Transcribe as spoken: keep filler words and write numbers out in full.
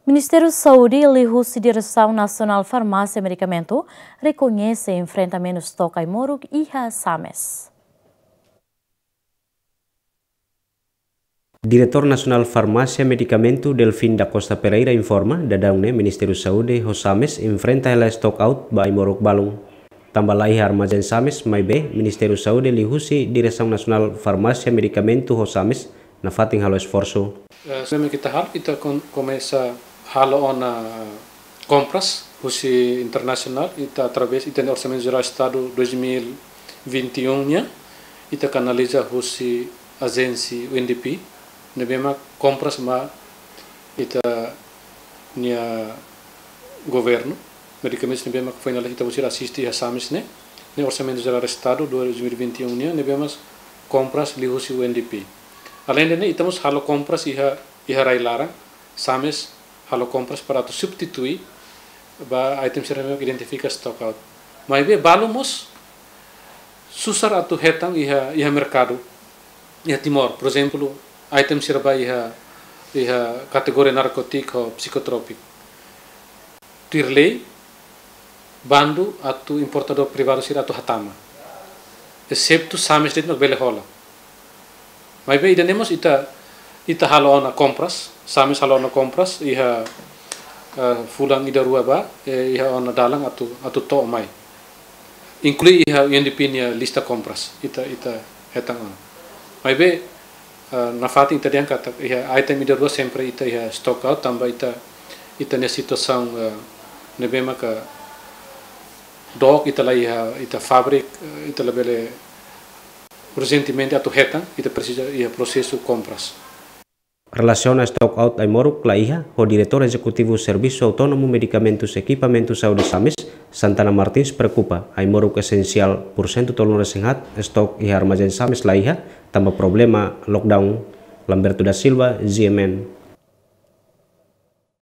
Ministériu Saúde liuhusi Diresaun Nasionál Farmásia Medikamentu rekoñese enfrentamentu stok ai-moruk iha SAMES. Diretór Nasionál Farmásia Medikamentu Delfim da Costa Pereira informa, daudaun ne'e Ministériu Saúde ho SAMES enfrenta hela stock out ba ai-moruk balun. Tanba laiha armazén SAMES, maibé Ministériu Saúde liuhusi Diresaun Nasionál Farmásia Medikamentu ho SAMES nafatin halo esforsu. Eh, se ita halo, ita kon-, komesa halo ona kompras husi internasionál, ita através ita-nia Orsamentu Jerál Estadu dois mil e vinte e um nian, ita kanaliza husi ajénsia U N D P, ne'ebé mak kompras mai ita-nia governu, medikamentus ne'ebé mak foin lalais ita-boot sira asiste iha SAMES ne'e, ne'e Orsamentu Jerál Estadu dois mil e vinte e um nian, ne'ebé mak kompras liuhusi U N D P. Aleinde ne'e, ita mós halo kompras iha, iha rai-laran, SAMES halo kompras para atu substitui ba item sira ne'ebé identifika stock out. Maibé balu mós susar atu hetan iha, iha merkadu, iha Timor. Por ezemplu, item sira ba iha, iha kategoria narkótiku ho psikotrópiku. Tuir lei, bandu atu importadór privadu sira atu hatama. Eseptu SAMES de'it mak bele hola. Maibé ida-ne'e mós ita, ita halo ona kompras, SAMES halo ona kompras, iha, eh, fulan ida rua ba, eh, iha ona dalan atu, atu to'o mai. Inklui iha U N D P nia lista kompras, ita, ita hetan ona. Maibé, eh, nafatin ita dehan katak iha item ida rua sempre ita iha stock out, tanba ita, ita-nia situasaun, eh, ne'ebé maka dook, ita la iha ita fábrika, eh, ita labele urjentemente atu hetan, ita presiza iha prosesu kompras. Relasiona stock out ai-moruk laiha, ho Diretór Ezekutivu Servisu Autónomu Medikamentus Ekipamentu Saúde SAMES, Santana Martins preokupa, ai-moruk esensiál porsentu tolunulu-resin-haat, stock iha armazén SAMES laiha, tanba problema lockdown. Lamberto da Silva, G M N,